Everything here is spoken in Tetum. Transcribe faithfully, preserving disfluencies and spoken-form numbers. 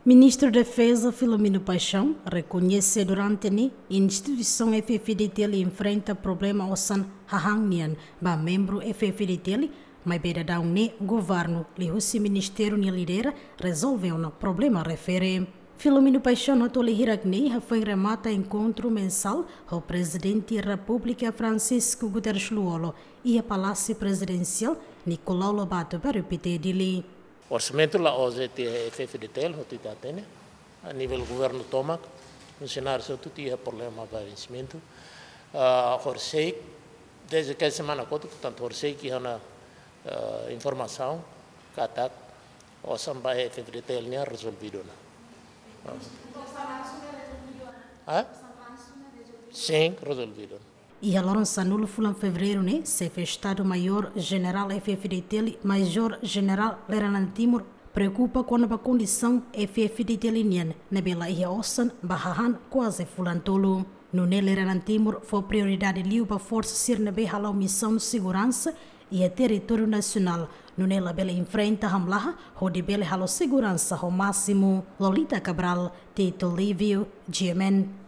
Ministru Defeza Filomeno Paixão rekoñese durante ne'e instituisaun F-FDTL enfrenta problema osan hahán nian ba membru F-FDTL, maibé daudaun ne'e governu liuhusi ministériu nia lidera rezolve ona problema refere. Filomeno Paixão hato'o hirak ne'e hafoin remata enkontru mensál ho Prezidente Repúblika Francisco Guterres Lú-Olo iha Palásiu Prezidensiál Nicolau Lobato Belo Pité, Dili. Orsamentu la'ós de'it iha F-FDTL, hotu ita hatene. A nivel governu tomak, funsionáriu hotu iha problema ba vensimentu. Ah, horisehik, dezde karik semana kotuk, portantu, horisehik iha ona, ah, informasaun katak osan ba F-FDTL nian rezolvidu ona. Ah? Sin, rezolvidu ona. Iha loron sanulu fulan Fevereiru ne'e, Xefe Estadu Maiór Jenerál F-FDTL, Majór Jenerál Lere Nada Timur, preokupa kona-ba kondisaun F-FDTL nian ne'ebé la iha osan ba hahán kuaze fulan tolu. Nune'e Lere Nada Timur fó prioridade liu ba forsa sira ne'ebé hala'o misaun seguransa iha territóriu nasionál, nune'e labele enfrenta hamlaha hodi bele halo seguransa ho másimu. Lolita Cabral, Tito Livio, G M N.